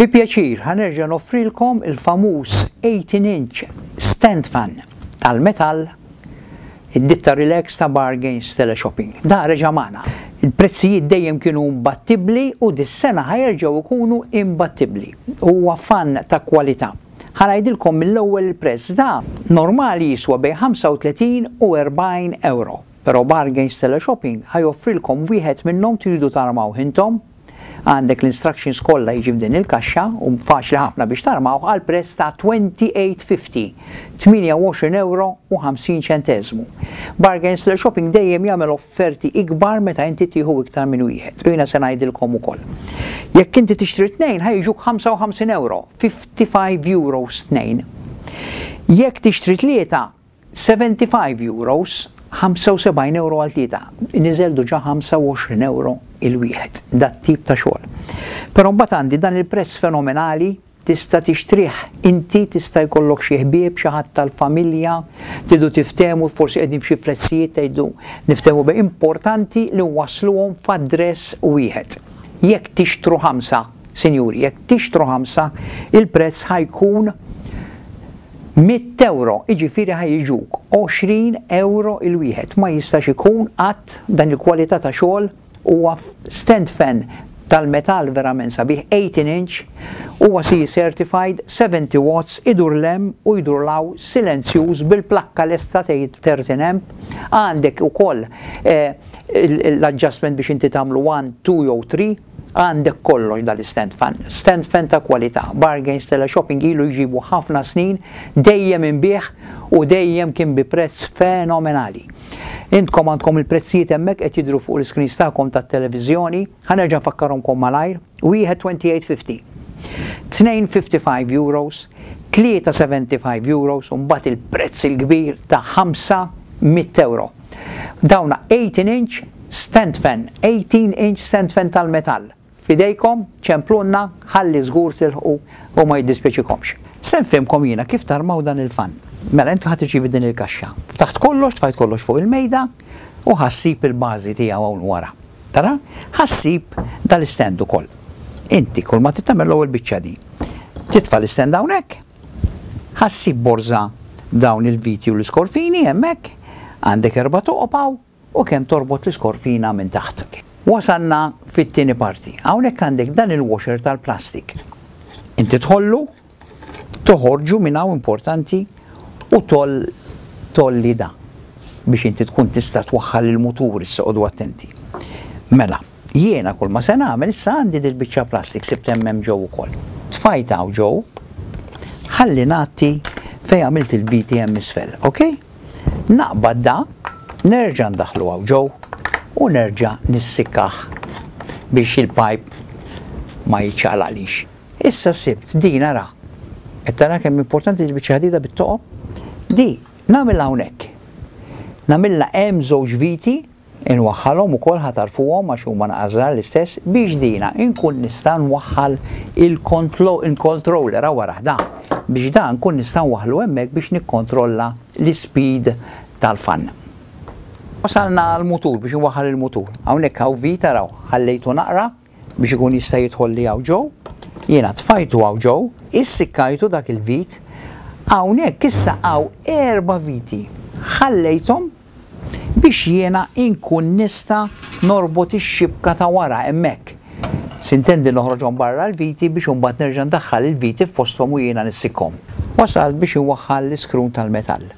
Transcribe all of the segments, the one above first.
Bi pjaċir ħa nerġa' noffrilkom il-famuż 18 inch stand fan tal-metall id-ditta Relax ta' Bargains Teleshopping. Da reġa' magħna. Il-prezzijiet dejjem kienu imbattibbli u dis-sena ħa jerġgħu jkunu imbattibbli. Huwa fan ta' kwalità. Ħa ngħidilkom mill-ewwel il-prezz da normali jiswa bejn 35 u 40 euro. Però Bargains Teleshopping ħa joffrilkom wieħed minnhom tridu tarmawh intom. Għandek l-instructions kollha jiġi f'din il-kaxxa u faċli ħafna biex tarmawh għal prezz ta' 28.50, 28 euro u 50 ċenteżmu. Bargains Teleshopping dejjem jagħmel offerti ikbar meta inti tieħu iktar minn wieħed. U jiena se ngħidilkom ukoll. Jekk inti tixtri tnejn ħa jiġuk 55 euro, 55 euros tnejn. Jekk tixtri tlieta 75 euros, 75 euro għal tlieta, niżel diġà 25 euro il-wieħed, dat-tip ta' xogħol. Però mbagħad għandi dan il-prezz fenomenali, tista' tixtrih inti, tista' jkollok xi ħbieb, xi ħadd tal-familja, tridu tiftehmu, forsi qegħdin f'xi prezzijiet tgħidu niftehmu bejn importanti li nwassluhom f'address wieħed. Jekk tixtru ħamsa, sinjuri, jekk tixtru ħamsa, il-prezz ħa jkun 100 euro, jiġifieri ħa jiġuk 20 euro il-wieħed. Ma jistax ikun qatt dan il-kwalità ta' xogħol huwa stand fan tal-metall verament sabiħ 18 inch, huwa CE certified, 70 watts, idur 'l hemm u jdur 'l hawn silenzjuż bil-plakka lesta tgħid 13 amp. Għandek ukoll eh, l-adjustment biex inti tagħmlu 1, 2 jew 3. Għandek kollox dal-stand fan. Stand fan ta' kwalità. Bargains Teleshopping ilu jġibu ħafna snin, dejjem inbigħ u dejjem kien bi prezz fenomenali. Intkom għandkom il-prezzijiet hemmhekk qed jidhru fuq l-iscreens tagħkom tat-televiżjoni. Ħa nerġa' nfakkarhomkom malajr. Wieħed 28.50. 2.55 euros, 3.75 euros u mbagħad il-prezz il-kbir ta' 500 euro. Dawna 18 inch stand fan, 18 inch stand fan tal-metall. F'idejkom, ċemplunna, ħalli żgur tilħqu u ma jiddispjaċikomx. Se nfehmkom jiena kif tarmaw dan il-fan. Mela inti ħa tirċievi din il-kaxxa. Ftaħt kollox, tfajt kollox fuq il-mejda u ħa ssib il-bażi tiegħu hawn wara. Tara? Ħa ssib dal-stand ukoll. Inti kull ma trid tagħmel l-ewwel biċċa di. Titfa' l-istand hawnhekk, ħa ssib borża b'dawn il-viti u l-iskorfini hemmhekk, għandek erba' toqob hawn u kemm torbot l-iskorfina minn taħt. Wasalna fit-tieni parti. Hawnhekk għandek dan il-washer tal-plastik. Inti tħollu, toħorġu minn hawn importanti u toll tolli da biex inti tkun tista' twaħħal il-mutur issa qogħdu attenti. Mela, jiena kull ma se nagħmel issa għandi dil-biċċa plastik sibt hemm hemm ġew ukoll. Tfajt hawn ġew, ħalli ngħatti fejn għamilt il-viti hemm isfel, ok? Naqbad da, nerġa' ndaħħlu hawn ġew u nerġa' nissikkah biex il-pipe ma jiċċaqlaqlix. Issa sibt din ara. Qed tara kemm importanti il-biċċa ħadida bit-toqob? Di nagħmilha hawnhekk. Nagħmilha hemm żewġ viti inwaħħalhom ukoll ħa tarfuhom għax huma naqas żgħar l-istess biex dina inkun nista' nwaħħal il-controller hawn warah da biex da nkun nista' nwaħħlu hemmhekk biex nikkontrolla l-ispeed tal-fan. Wasalna għall-mutur biex inwaħħal il-mutur. Hawnhekk hawn vit araw ħallejtu naqra biex ikun jista' jidħol li hawn ġew. Jiena tfajtu hawn ġew, issikkajtu dak il-vit. Hawnhekk issa hawn erba' viti. Ħallejthom biex jiena inkun nista' norbot ix-xibka ta' wara hemmhekk. Sintendi noħroġhom barra l-viti biex imbagħad nerġa' ndaħħal il-viti f'posthom u jiena nissikkhom. Wasalt biex inwaħħal l-iskrun tal-metall.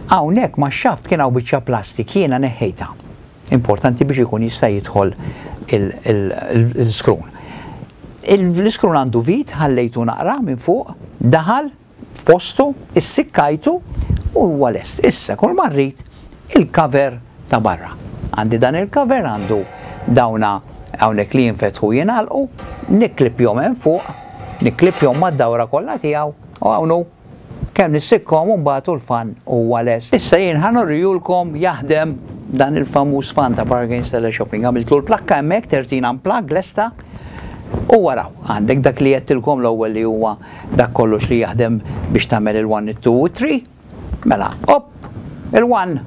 Hawnhekk max-xaft kien hawn biċċa plastik jiena neħħejtha. Importanti biex ikun jista' jidħol l-iskrun. L-iskrun għandu vit, ħallejtu naqra minn fuq, daħal f'postu, issikkajtu u huwa lest. Issa kull ma rrid il-cover ta' barra. Għandi dan il-cover għandu dawna hawnhekk li jinfetħu jingħalqu, nikklippjhom hemm fuq, nikklippjhom mad-dawra kollha tiegħu u hawn hu kemm nissikkhom u mbagħad u l-fan huwa lest. Issa jien ħa nurrijulkom jaħdem dan il-famuż fan ta' Bargains Teleshopping. Għamiltlu l-plakka hemmhekk, 13 amp plug lesta. U waraw, għandek dak li għedtilkom l-ewwel li huwa dak kollox li jaħdem biex tagħmel il-1, it-2 u 3. Mela, op, il-1.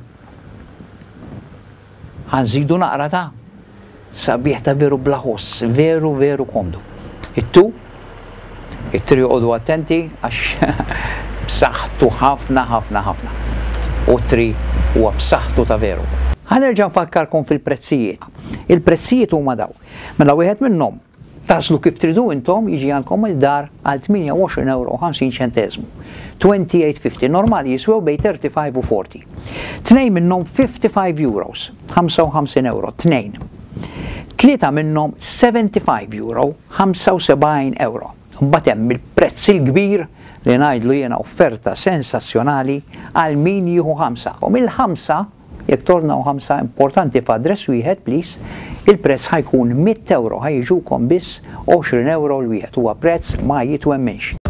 Ħa nżidu naqra ta' sabiħ ta' veru bla ħoss, veru veru komdu. It-2. It-tree oqogħdu attenti għax b'saħħtu ħafna ħafna ħafna. U t-tree huwa b'saħħtu ta' veru. Ħa nerġa' nfakkarkom fil-prezzijiet. Il-prezzijiet huma dawn. Mela wieħed minnhom tagħżlu kif tridu intom jiġi għandkom il-dar għal 28 euro 50 ċenteżmu. 28.50 normali jiswew bejn 35 u 40. Tnejn minnhom 55 euros, 55 euro, tnejn. Tlieta minnhom 75 euro, 75 euro. Mbagħad hemm il-prezz il-kbir li ngħidlu jiena offerta sensazzjonali għal min jieħu ħamsa. U mill-ħamsa, jekk tornaw ħamsa importanti f'address wieħed, please, il-prezz ħa jkun 100 euro, ħa jiġukom biss 20 euro l-wieħed. Huwa prezz ma jitwemminx.